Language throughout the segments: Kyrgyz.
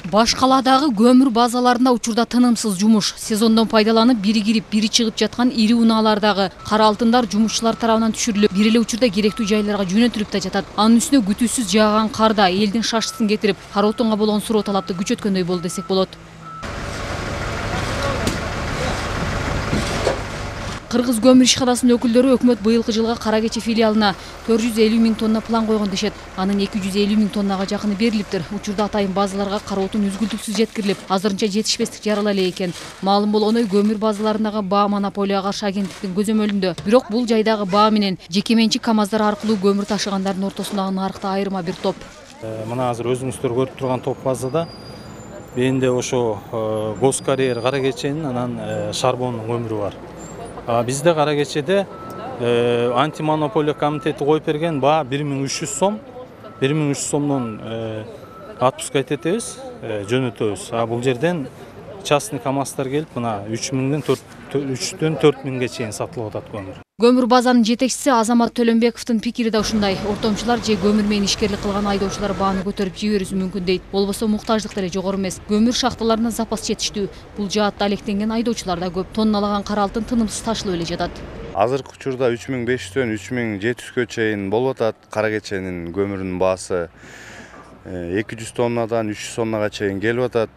Баш каладагы көмүр базаларында учурда тынымсыз жумуш. Сезондон пайдаланып, бири кирип, бири чыгып жаткан ири унаалардагы кара алтындар жумушчулар тарабынан түшүрүлүп, бир эле учурда керектүү жайларга жөнөтүлүп да жатат. Анын үстүнө күтүүсүз жааган карда элдин шашысын кетирип, кара отунга болгон суроо талапты күчөткөндөй болду десек болот. Кыргыз көмүр ишканасынын өкүлдөрү өкмөт быйылкы жылга Кара Кече филиалына 450 миң тонна план койгон дешет. Анын 250 миң тоннага жакыны берилиптир. Учурда атайын базаларга кара отун үзгүлтүксүз жеткирилип, азырынча жетишпестик жарала эле экен. Маалым болгондой, көмүр базаларындагы баа монополияга каршы агенттиктин көзөмөлүндө. Бирок бул жайдагы баа менен жеке менчик КАМАЗдар аркылуу көмүр ташыгандардын ортосундагы нарыкта айырма бир топ. Мына азыр өзүңүздөр көрүп турган топ базада бенде ошо Госкарьер Кара Кеченин анан Шарбондун көмүрү бар. Бизде Кара Кечеде антимонополия комитети коюп берген баа 1300 сом. 1300 сомдон отпуска этебиз, жөнөтөбүз. Бул жерден частный КАМАЗдар келип, мына 3-төн 4 миңге чейин сатылып атат көмүр. Көмүр базанын жетекчиси Азамат Төлөнбековдун пикири да ушундай. Ортомчулар же көмүр менен ишкерлик кылган айдоочулар бааны көтөрүп жиберүүсү мүмкүн дейт. Болбосо муктаждык деле жогору эмес. Көмүр шахталарына запас жетиштүү. Бул жаатта алектенген айдоочулар да көп. Тонналаган кара алтын тынымсыз ташылып эле жатат. Азыркы учурда 3500дөн 3700гө чейин болуп атат. Кара Кеченин көмүрүнүн баасы 200 тоннадан 300 тоннага чейин келип атат.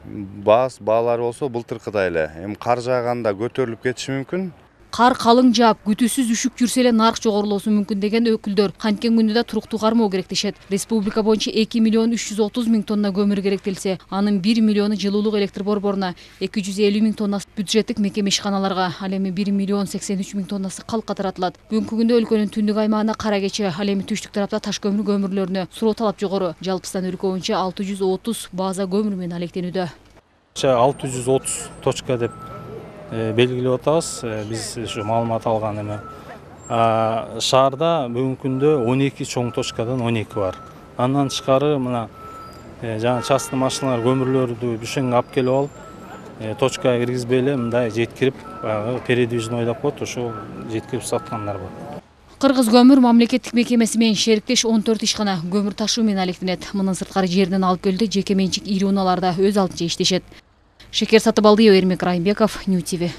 Баалар болсо былтыркыдай эле. Эми кар жааганда көтөрүлүп кетиши мүмкүн. Кар калың жаап, күтүүсүз үшүк жүрсө эле нарк жогорулоосу мүмкүн деген өкүлдөр канткен күндө да туруктуу кармоо керек дешет. Республика боюнча 2 миллион 330 миң тонна көмүр керектелсе, анын 1 миллиону жылуулук электр борборуна, 250 миң тоннасы бюджеттик мекеме ишканаларга, ал эми 1 миллион 83 миң тоннасы калкка таратылат. Бүгүнкү күндө өлкөнүн түндүк аймагында Кара Кече, ал эми түштүк тарапта таш көмүр көмүрлөрүнө суроо талап жогору. Жалпысынан өлкө боюнча 630 база көмүр менен алектенүүдө. 630 точка деп белгилеп атабыз. Биз ушу маалымат алган эме. Шаарда бүгүнкү күндө 12 чоң точкадан 12 бар. Андан тышкары мына жана частный машиналар көмүрлөрдү бүшөңгө алып келип алып, точкага киргизбей эле мындай жеткирип, передвижный ойдоп коет, ошол жеткирип саткандар бар. Кыргыз көмүр мамлекеттик мекемеси менен шериктеш 14 ишкана көмүр ташуу менен алектенет. Мындан сырткары жерден алып келди, жеке менчик ири унааларда өз алдынча иштешет. Шекер Сатыбалдиева, Эрмек Райымбеков, Нью ТВ.